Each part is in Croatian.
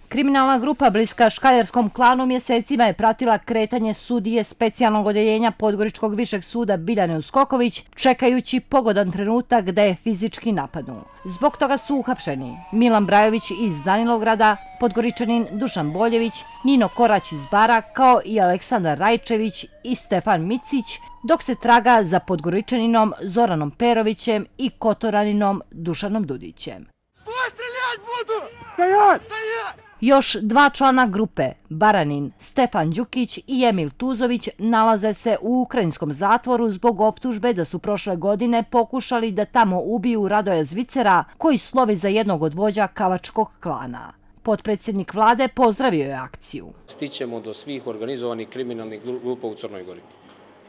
Kriminalna grupa bliska škaljarskom klanu mjesecima je pratila kretanje sudije specijalnog odjeljenja Podgoričkog višeg suda Biljane Uskoković, čekajući pogodan trenutak da je fizički napadnu. Zbog toga su uhapšeni Milan Brajović iz Danilograda, Podgoričanin Dušan Boljević, Nino Korać iz Bara, kao i Aleksandar Rajčević i Stefan Micić, dok se traga za Podgoričaninom Zoranom Perovićem i Kotoraninom Dušanom Dudićem. Stoj, streljat budu! Stajat! Još dva člana grupe, Baranin Stefan Đukić i Emil Tuzović, nalaze se u ukrajinskom zatvoru zbog optužbe da su prošle godine pokušali da tamo ubiju Radoja Zvicera, koji slovi za jednog od vođa Kavačkog klana. Potpredsjednik vlade pozdravio je akciju. Stićemo do svih organizovanih kriminalnih grupa u Crnoj Gori.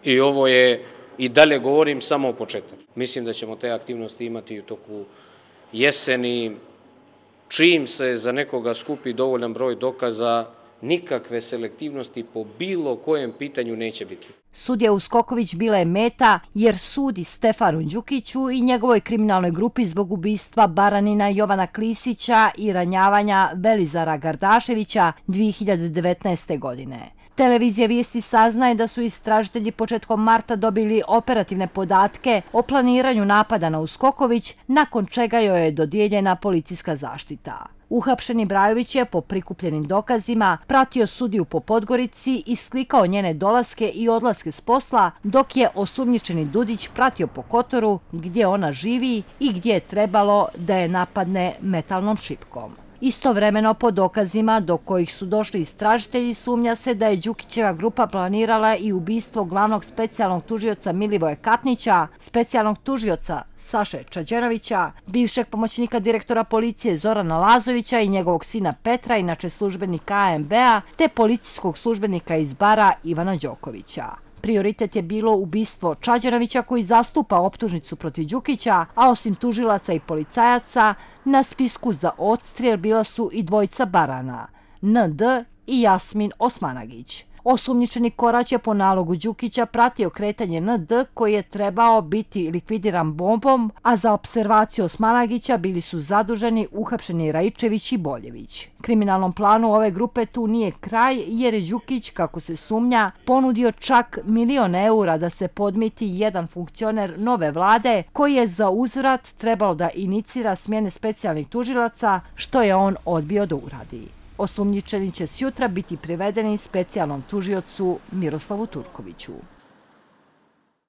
I ovo je, i dalje govorim, samo početak. Mislim da ćemo te aktivnosti imati u toku jeseni. Čim se za nekoga skupi dovoljan broj dokaza, nikakve selektivnosti po bilo kojem pitanju neće biti. Sudija Uskoković bila je meta jer sudi Stefanu Đukiću i njegovoj kriminalnoj grupi zbog ubistva Baranina Jovana Klisića i ranjavanja Velizara Gardaševića 2019. godine. Televizija Vijesti saznaje da su istražitelji početkom marta dobili operativne podatke o planiranju napada na Uskoković, nakon čega joj je dodijeljena policijska zaštita. Uhapšeni Brajović je po prikupljenim dokazima pratio sudiju po Podgorici i slikao njene dolaske i odlaske s posla, dok je osumnjičeni Dudić pratio po Kotoru gdje ona živi i gdje je trebalo da je napadne metalnom šipkom. Istovremeno, po dokazima do kojih su došli istražitelji, sumnja se da je Đukićeva grupa planirala i ubistvo glavnog specijalnog tužioca Milivoja Katnića, specijalnog tužioca Saše Čađenovića, bivšeg pomoćnika direktora policije Zorana Lazovića i njegovog sina Petra, inače službenika AMB-a, te policijskog službenika iz Bara Ivana Đokovića. Prioritet je bilo ubistvo Čađenovića, koji zastupa optužnicu protiv Đukića, a osim tužilaca i policajaca, na spisku za odstrijel bila su i dvojica Barana, ND i Jasmin Osmanagić. Osumnjičeni Korać je po nalogu Đukića pratio kretanje ND, koji je trebao biti likvidiran bombom, a za opservaciju Osmanagića bili su zaduženi uhapšeni Rajčević i Boljević. Kriminalnom planu ove grupe tu nije kraj, jer je Đukić, kako se sumnja, ponudio čak 1.000.000 eura da se podmiti jedan funkcioner nove vlade, koji je za uzvrat trebalo da inicira smjene specijalnih tužilaca, što je on odbio da uradi. Osumnjičeni će sjutra biti privedeni specijalnom tužiocu Miroslavu Turkoviću.